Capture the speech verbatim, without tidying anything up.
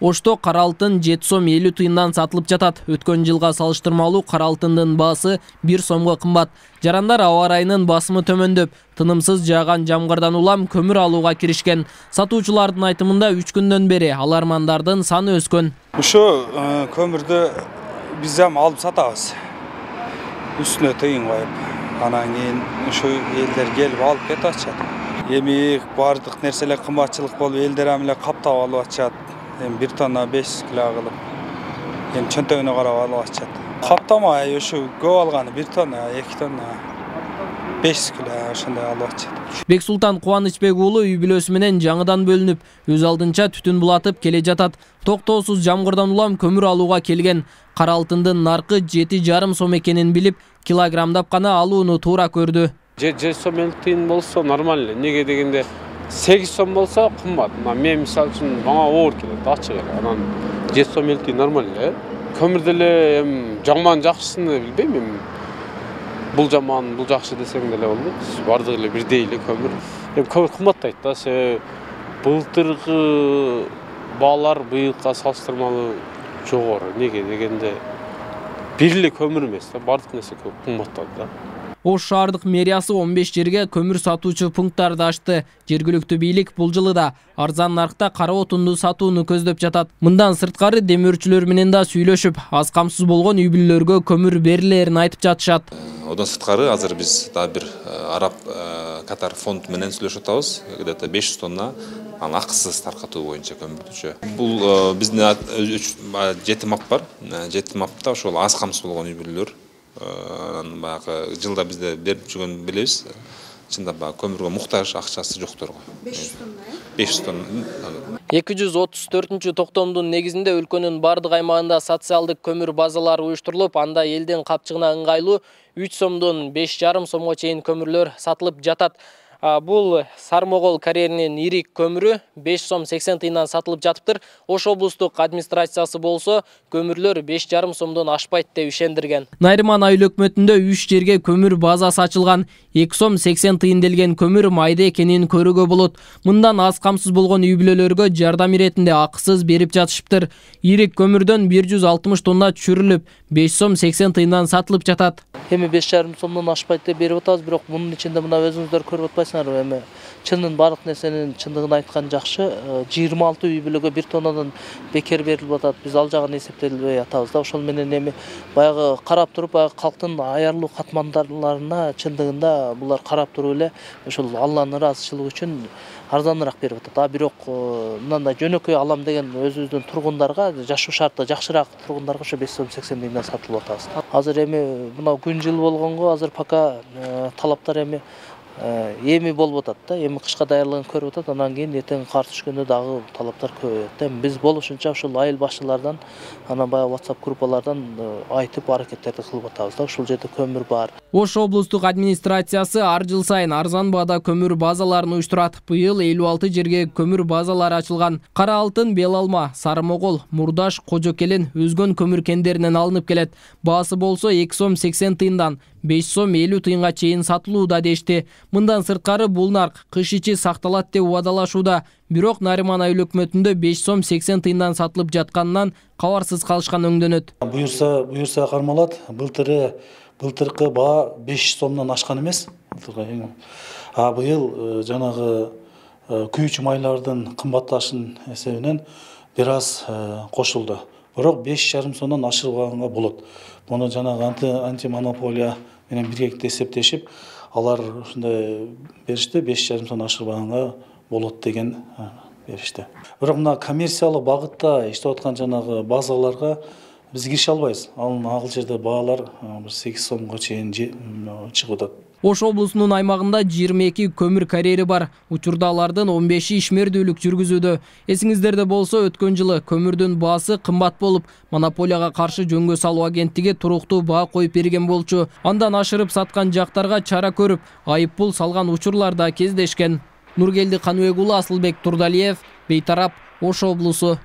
Ошто кара алтын жети сом элүү тыйындан сатылып жатат. Өткөн жылга салыштырмалуу кара алтындын баасы бир сомго кымбат. Жарандар аба ырайынын басымы төмөндөп, тынымсыз жааган жамгырдан улам көмүр алууга киришкен. Сатуучулардын айтымында үч күндөн бери алармандардын саны өскөн. Ошо көмүрдү биз ham алып сатабыз. Үстүнө тыйын коюп, анан кийин ошо элдер келип алып кетип атышат. Эми бардык нерселер кымбатчылык болуп, элдер ам эле каптап алып атышат. Эми бир тонна беш жүз кило кылып. Эми чөнтөгүнө карап алып атышат. Каптамай ошо көп алганы бир тонна, эки тонна, беш жүз кило ошондой алып атышат. Бексултан Кубанычбек уулу үй бүлөсү менен жаңыдан бөлүнүп, өз алдынча түтүн булатып келе жатат. Токтоосуз жамгырдан улам көмүр алууга келген. Кара алтындын наркы жети жарым сом экенин билип, килограммдап гана алууну туура көрдү. жети сом элүү тыйын болсо нормально. Неге дегенде сегиз сом болсо кымбат. Мен мисалы үчүн мага оор келет, ачык эле. Анан жети сом элүү тыйын нормально. Көмүр деле эми жаман жакшысын билбейм эми. Бул жаман, бул жакшы десең деле болбойт. Бардыгы эле бирдей эле көмүр. Эми көмүр кымбаттайт да. Себеби былтыркы баалар быйылга салыштырмалуу жогору. Неге дегенде бир эле көмүр эмес да, бардык нерсе кымбаттады да. Ош шаардык мэриясы он беш жерге көмүр сатуучу пункттарды ачты. Жергиликтүү бийлик бул жылы да арзан наркта кара отунду сатууну көздөп жатат. Мындан сырткары демөөрчүлөр менен да сүйлөшүп, аз камсыз болгон үй бүлөлөргө көмүр берилерин айтып жатышат. Одан сырткары азыр биз да бир араб Катар фонд менен сүйлөшүп атабыз. Где-то беш жүз тонна акысыз таркатуу боюнча көмүрчү. Бул биздин жети мап бар. жети мапта ошол аз камсыз болгон үй бүлөлөр баягы жылда бизде берип жүргөн билебиз. Чында баягы көмүргө муктаж, акчасы жокторго. беш жүз тонна. беш жүз тонна. эки жүз отуз төртүнчү токтомдун негизинде өлкөнүн бардык аймагында социалдык көмүр базалары уюштурулуп, анда элдин капчыгына ыңгайлуу үч сомдон беш жарым сомго чейин көмүрлөр сатылып жатат. Бул Сармогол карьеринин ирик көмүрү беш сом сексен тыйындан сатылып жатыптыр. Ош облустук администрациясы болсо көмүрлөр беш жарым сомдон ашпайт деп ишендирген. Найрыман айыл өкмөтүндө үч жерге көмүр базасы ачылган. эки сом сексен тыйын делген көмүр майда экенин көрүүгө болот. Мындан аз камсыз болгон үй бүлөлөргө жардам иретинде акысыз берип жатышыптыр. Ирик көмүрдөн бир жүз алтымыш тонна түшүрүлүп, беш сом сексен тыйындан сатылып жатат. Эми беш жарым сомдон ашпайт деп берип атабыз, бирок мунун ичинде мына өзүңүздөр көрүп атпайсыңарбы, эми чындын бардык нерсенин чындыгын айткан жакшы. жыйырма алты үй бүлөгө бир тоннадан бекер берилип атат. Биз ал жагын эсептелбей атабыз да. Ошол менен эми баягы карап туруп, баягы калктын аярлуу катмандарларына чындыгында булар карап туруп эле ошол Алланын ыраазычылыгы үчүн арзаныраак берип атат. А бирок мындай жөнөкөй алам деген өзүбүздүн тургундарга, жашоо шарты жакшыраак тургундарга ошо беш сом сексен тыйындан сатылып атабыз. Азыр эми мына күн жыл болгонго азыр пока талаптар эми эми болуп атат да. Эми кышка даярдыгын көрүп атат. Анан кийин эртең кар түшкөндө дагы талаптар көбөйөт да. Биз болушунча ошол айыл башчылардан, анан баягы WhatsApp группалардан айтып аракеттерди кылып атабыз да. Ушул жерде көмүр бар. Ош облустук администрациясы ар жыл сайын арзан баада көмүр базаларын уюштурат. Быйыл элүү алты жерге көмүр базалары ачылган. Кара алтын, Бел алма, Сармогол, Мурдаш, Кожокелен өзгөн көмүр кендеринен алынып келет. Баасы болсо эки сом сексен тыйындан беш сом элүү тыйынга чейин сатылууда дешти. Мындан сырткары бул нарк кыш ичи сакталат деп убадалашууда. Бирок Нарыман айыл өкмөтүндө беш сом сексен тыйындан сатылып жатканынан кабарсыз калышкан өңдөнөт. Буюрса, буюрса кармалат. Былтыры былтыркы баа беш сомдон ашкан эмес. А быйыл жанагы күйүүчү майлардын кымбатташын эсебинен бир аз кошулду. Бирок беш жарым сомдон ашырганга болот. Муну жанагы антимонополия менен биргеликте эсептешип, алар ушундай беришти, беш жарым сом ашырбаганга болот деген беришти. Бирок мына коммерциялык багытта иштеп аткан жанагы базаларга биз кирише албайбыз. Ал ал жерде баалар сегиз сомго чейин чыгып атат. Ош облусунун аймагында жыйырма эки көмүр карьери бар. Учурда алардын он беши ишмердүүлүк жүргүзүүдө. Эсиңиздерде болсо, өткөн жылы көмүрдүн баасы кымбат болуп, монополияга каршы жөнгө салуу агенттиги туруктуу баа коюп берген болчу. Андан ашырып саткан жактарга чара көрүп, айып пул салган учурлар да кездешкен. Нургелди Каныбек уулу, Асылбек Турдалиев, Бейтарап, Ош облусу.